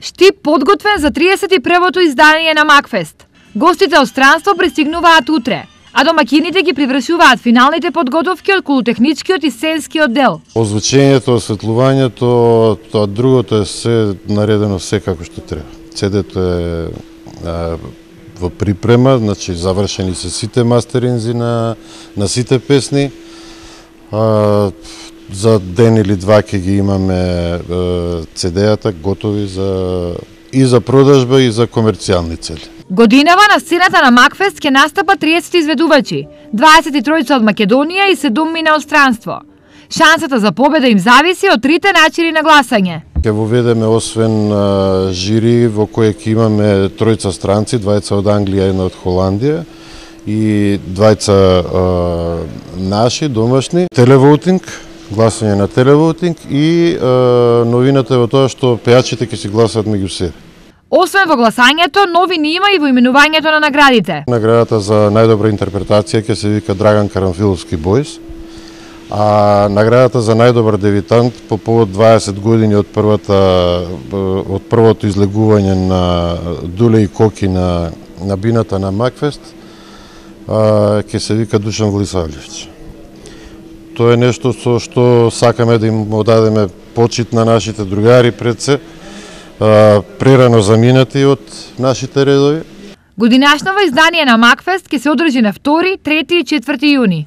Штип подготвен за 31-то издание на Макфест. Гостите од странство пристигнуваат утре, а домакините ги привршуваат финалните подготовки од култехничкиот и сценскиот дел. Озвучењето, осветлувањето, тоа другото е се наредено се како што треба. CD-то е во припрема, значи завршени се сите мастеринзи на сите песни. За ден или два ќе ги имаме CD-ата готови и за продажба и за комерцијални цели. Годинава на сцената на Макфест ќе настапат 30 изведувачи, 23 од Македонија и 7 мина од странство. Шансата за победа им зависи од трите начини на гласање. Ќе воведеме освен жири во кое ќе имаме тројца странци, двајца од Англија, една од Холандија и двајца наши, домашни. Телевотинг, гласање на телевотинг и новината е во тоа што пејачите ќе си гласат меѓу себе. Освен во гласањето, новини има и во именувањето на наградите. Наградата за најдобра интерпретација ќе се вика Драган Карамфиловски Бојс, а наградата за најдобар дебитант по повод 20 години од првото излегување на Дуле и Коки на бината на Макфест ќе се вика Душан Влисавлевич. Тоа е нешто со што сакаме да им одадеме почит на нашите другари пред се, прерано заминати од нашите редови. Годинашново издание на Макфест ќе се одржи на 2, 3 и 4 јуни.